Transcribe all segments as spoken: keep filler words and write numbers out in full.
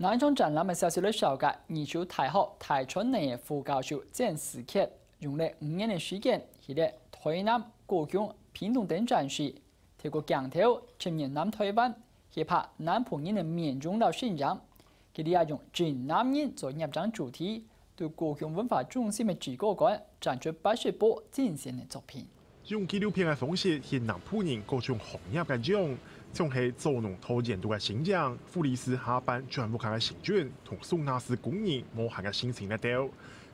這場展覽个消息來紹介，義州大學大專院个副教授曾思傑，用了五年个時間，去了臺南、高雄、屏東等城市，透過鏡頭，深入南臺灣，去拍南部人个面容摎聲音。佢這下用真男人做攝影主題，對高雄文化中心个制高館展出八十部精選个作品。 用紀錄片个方式，現南部人各種行業个樣，像係做農到印度个身影，護理師下班轉屋下个心情，同送瓦斯工人無閒个心情來鬥。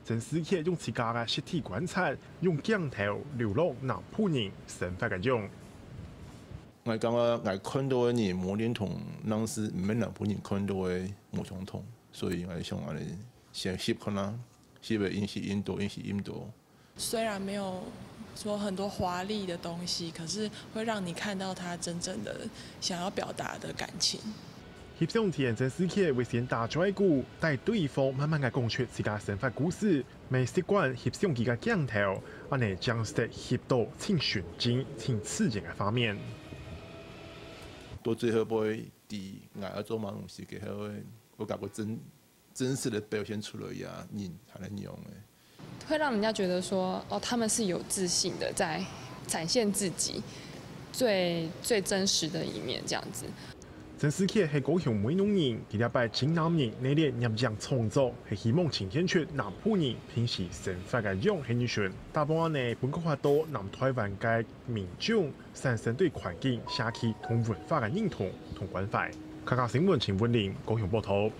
曾思傑用自家个實地觀察，用鏡頭流露南部人生活个樣。𠊎感覺𠊎看到个人，無定同，若係毋係南部人看到个無相同，所以𠊎想恁樣先翕看啊，翕个影視印度，影視印度。 虽然没有说很多华丽的东西，可是会让你看到他真正的想要表达的感情。翕相前，曾思傑會先打嘴鼓，帶對方慢慢个講出自家生活故事，乜習慣翕相機个鏡頭，恁樣正識翕到盡純真、盡自然个畫面。到最後尾，知𠊎愛做麼个東西个時候，𠊎感覺真真實个表現出來呀，人還係樣个。会让人家觉得说，哦，他们是有自信的，在展现自己最最真实的一面，这样子。曾思傑係高雄美濃人，佢這擺真男人系列攝影創作，係希望呈現出南部人平時生活个樣形象，打破恁樣分割化到南臺灣个面種，產生對環境、社區同文化个認同同關懷。客家新聞陳文玲，高雄報導。